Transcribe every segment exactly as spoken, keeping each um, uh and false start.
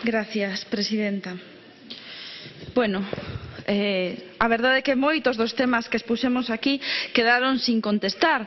Gracias, presidenta. Bueno, eh, a verdade é que moitos dos temas que expuxemos aquí quedaron sin contestar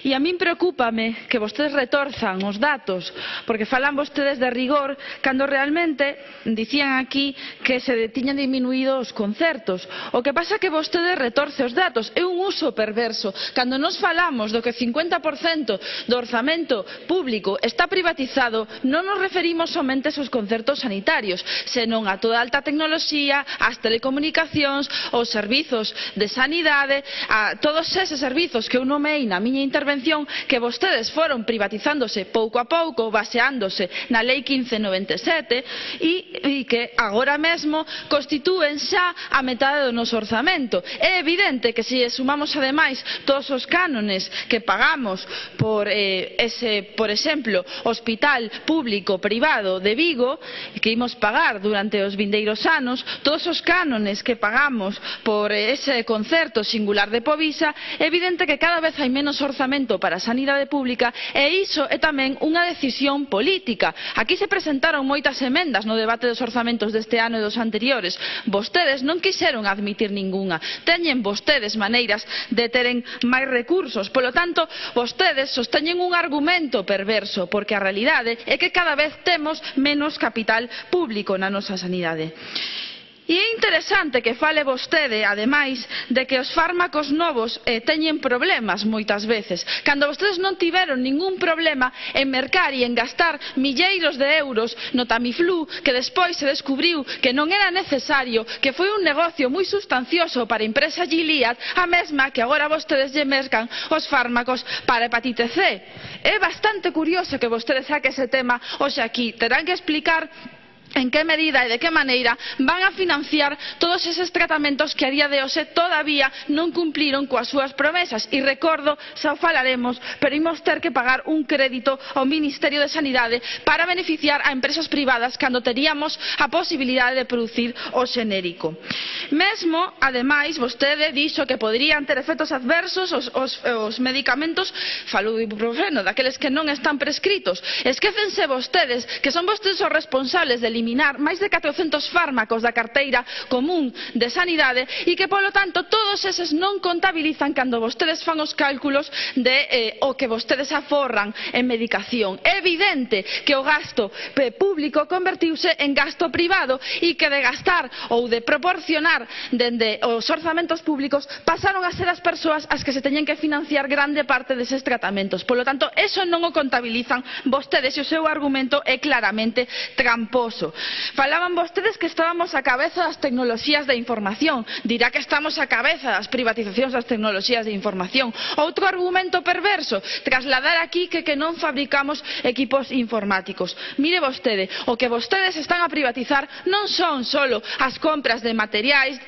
e a min preocúpame que vostedes retorzan os datos porque falan vostedes de rigor cando realmente dicían aquí que se tiñan diminuído os concertos. O que pasa é que vostedes retorce os datos, é un uso perverso. Cando nos falamos do que o cincuenta por cento do orzamento público está privatizado, non nos referimos somente aos concertos sanitarios, senón a toda a alta tecnoloxía, as telecomunicacións, os servizos de sanidade, a todos eses servizos que eu nomeei na miña intervención que vostedes foron privatizándose pouco a pouco, baseándose na Lei quince noventa e sete e, e que agora mesmo constitúen xa a metade do noso orzamento. É evidente que se sumamos ademais todos os cánones que pagamos por eh, ese, por exemplo, hospital público privado de Vigo, que imos pagar durante os vindeiros anos, todos os cánones que pagamos por ese concerto singular de Povisa, é evidente que cada vez hai menos orzamento para a sanidade pública e iso é tamén unha decisión política. Aquí se presentaron moitas emendas no debate dos orzamentos deste ano e dos anteriores. Vostedes non quixeron admitir ningunha. Teñen vostedes maneiras de teren máis recursos. Polo tanto, vostedes sosteñen un argumento perverso porque a realidade é que cada vez temos menos capital público na nosa sanidade. E é interesante que fale vostede, ademais, de que os fármacos novos eh, teñen problemas moitas veces, cando vostedes non tiveron ningún problema en mercar e en gastar milleiros de euros no Tamiflu, que despois se descubriu que non era necesario, que foi un negocio moi sustancioso para a empresa Gilead, a mesma que agora vostedes lle mercan os fármacos para a hepatite C. É bastante curioso que vostedes saque ese tema hoxe aquí. Terán que explicar en que medida e de que maneira van a financiar todos eses tratamentos que a día de hoxe todavía non cumpliron coas súas promesas. E recordo, xa o falaremos, pero imos ter que pagar un crédito ao Ministerio de Sanidade para beneficiar a empresas privadas cando teríamos a posibilidade de producir o xenérico. Mesmo, ademais, vostede dixo que poderían ter efectos adversos os, os, os medicamentos, falou de ibuprofeno, daqueles que non están prescritos. Esquécense vostedes que son vostedes os responsables de eliminar máis de catrocentos fármacos da carteira común de sanidade e que, polo tanto, todos eses non contabilizan cando vostedes fan os cálculos de eh, o que vostedes aforran en medicación. É evidente que o gasto público convertiuse en gasto privado e que de gastar ou de proporcionar dende os orzamentos públicos pasaron a ser as persoas as que se teñen que financiar grande parte deses tratamentos. Polo tanto, eso non o contabilizan vostedes e o seu argumento é claramente tramposo. Falaban vostedes que estábamos a cabeza das tecnoloxías de información. Dirá que estamos a cabeza das privatizacións das tecnoloxías de información. Outro argumento perverso, trasladar aquí que, que non fabricamos equipos informáticos. Mire vostede, o que vostedes están a privatizar non son solo as compras de materiais,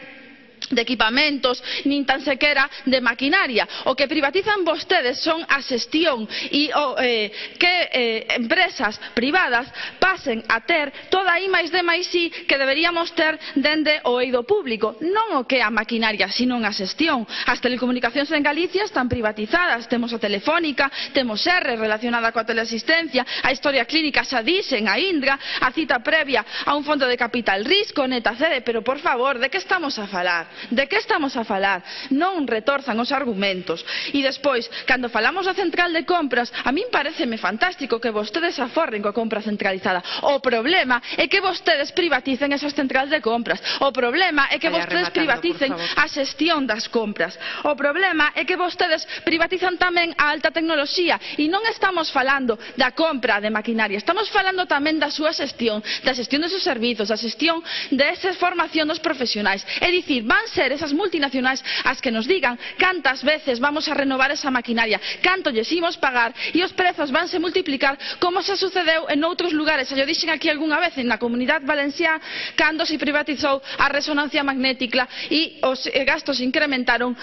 de equipamentos, nin tan sequera de maquinaria. O que privatizan vostedes son a xestión e o, eh, que eh, empresas privadas pasen a ter toda a I máis D máis I que deberíamos ter dende o eido público. Non o que é a maquinaria, sino a xestión. As telecomunicacións en Galicia están privatizadas. Temos a Telefónica, temos R relacionada coa teleasistencia, a historia clínica xa dixen, a Indra, a cita previa a un fondo de capital risco, Netacede, pero por favor, de que estamos a falar? De que estamos a falar? Non retorzan os argumentos. E despois, cando falamos da central de compras, a min pareceme fantástico que vostedes aforren coa compra centralizada. O problema é que vostedes privaticen esas centrales de compras. O problema é que vostedes privaticen a xestión das compras. O problema é que vostedes privatizan tamén a alta tecnoloxía. E non estamos falando da compra de maquinaria, estamos falando tamén da súa xestión, da xestión dos seus servizos, da xestión desa formación dos profesionais. É dicir, van ser esas multinacionais as que nos digan cantas veces vamos a renovar esa maquinaria, canto lles imos pagar e os prezos vanse multiplicar como se sucedeu en outros lugares. Xa yo dixen aquí algunha vez na Comunidade Valenciana cando se privatizou a resonancia magnética e os gastos incrementaron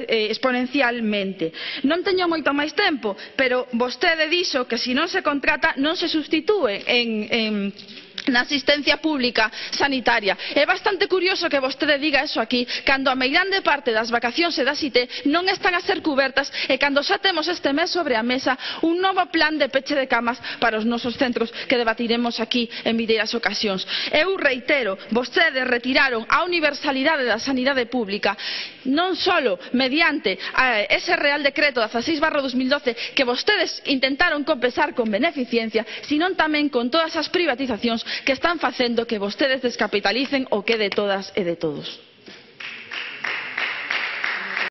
exponencialmente. Non teño moito máis tempo, pero vostede dixo que se non se contrata non se substitúe en, en na asistencia pública sanitaria. É bastante curioso que vostede diga eso aquí, cando a meirande parte das vacacións e das I T non están a ser cubertas e cando xa temos este mes sobre a mesa un novo plan de peche de camas para os nosos centros que debatiremos aquí en vindeiras ocasións. Eu reitero, vostedes retiraron a universalidade da sanidade pública non só mediante ese Real Decreto dezaseis barra dos mil doce que vostedes intentaron compensar con beneficencia, sino tamén con todas as privatizacións que están facendo que vostedes descapitalicen o que é de todas e de todos.